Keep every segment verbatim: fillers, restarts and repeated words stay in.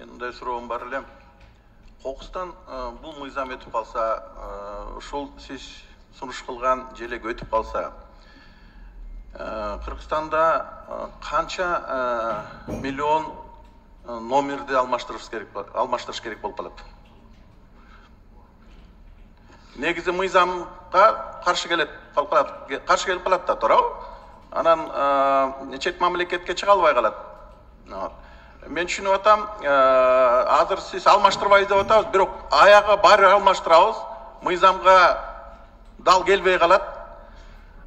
Мен мындай суроом бар элем. Кокустан бул мыйзам өтүп калса, ушул сиз сунуш кылган желек өтүп калса, Кыргызстанда канча миллион номерди алмаштырыш керек, алмаштырыш керек болуп калат? Негизи мыйзамга каршы келет, каршы келип калат да, туурабы? Анан чет мамлекетке чыга албай калат. Мен түшүнүп атам, азыр сиз алмаштырбайбыз деп атабыз, бирок аягы баары алмаштырабыз, мыйзамга дал келбей калат.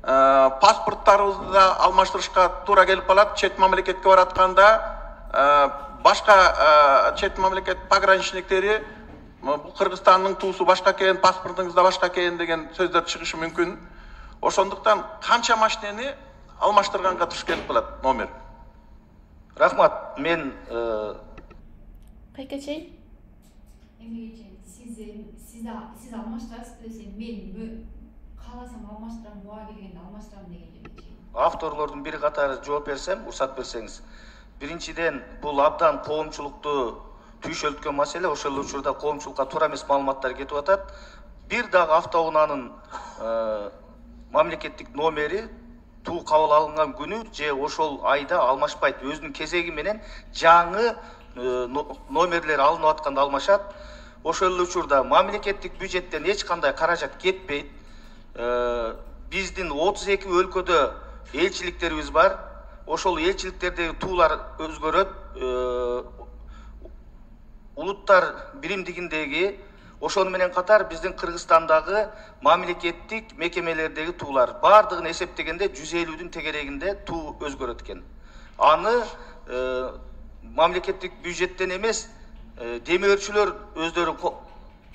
Паспорттарыбызды да алмаштырышка туура келип калат. Чет мамлекетке баратканда башка чет мамлекет пограничниктери бул Кыргызстандын туусу башка экен, паспортуңуз да башка экен деген сөздөр чыгышы мүмкүн. Ошондуктан канча машинени алмаштырганга туш келип калат номер? Рахмат, мен Кайкачей. Эмнеге сиз сиз сиз алмаштырасыз десе, мен кааласам алмаштырам, буга келгенде алмаштырам деген жерде. Авторлордун бири катары жооп берсем, уруксат берсеңиз. Биринчиден, бул абдан коомчулукту түйшөлткөн маселе, ошол учурда коомчулукка туура эмес маалыматтар кетип атат. Бир дагы автоунаанын мамлекеттик номери туу кабыл алынган күнү же ошол айда алмашпайт. Өзүнүн кезеги менен жаңы номерлер алынып атканда алмашат. Ошол учурда мамлекеттик бюджеттен эч кандай каражат кетпейт. Биздин отуз эки өлкөдө элчиликтерибиз бар. Ошол элчиликтердеги туулар өзгөрөт. Улуттар биримдигиндеги, ошону менен катар биздин Кыргызстандагы мамлекеттик мекемелердеги туулар бардыгын эсептегенде жүз элүүдүн тегерегинде туу өзгөрөт экен. Аны мамлекеттик бюджеттен эмес, демөөрчүлөр өздөрү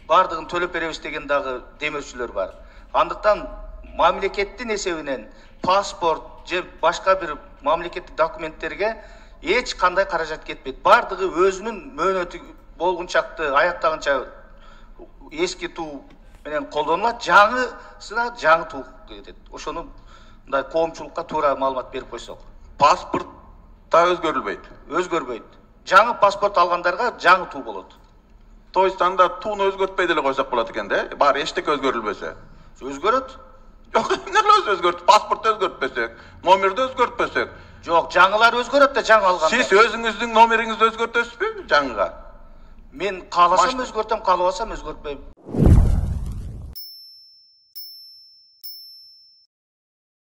бардыгын төлөп беребиз деген дагы демөөрчүлөр бар. Андыктан мамлекеттин эсебинен паспорт же башка бир мамлекеттик документтерге эч кандай каражат кетпейт. Бардыгы өзүнүн мөөнөтү болгунчакты аяктагынча эски туу менен колдонулат, жаңысына жаңы туу кетет. Ошону мындай коомчулукка туура маалымат берип койсок. Паспорт да өзгөрүлбөйт. Өзгөрбөйт. Жаңы паспорт алгандарга жаңы туу болот. То есть анда тууну өзгөртпөй деле койсок болот экен да? Баары эчтеке өзгөрүлбөсө. Өзгөрөт. Жок, эмне өзгөрт? Паспортты өзгөртпөсөк, номерди өзгөртпөсөк. Жок, жаңылар өзгөрөт да жаңы алганда. Сиз өзүңүздүн номериңизди өзгөртөсүзбү жаңыга? Мен кааласам өзгөртөм, каалабасам өзгөртпөйм.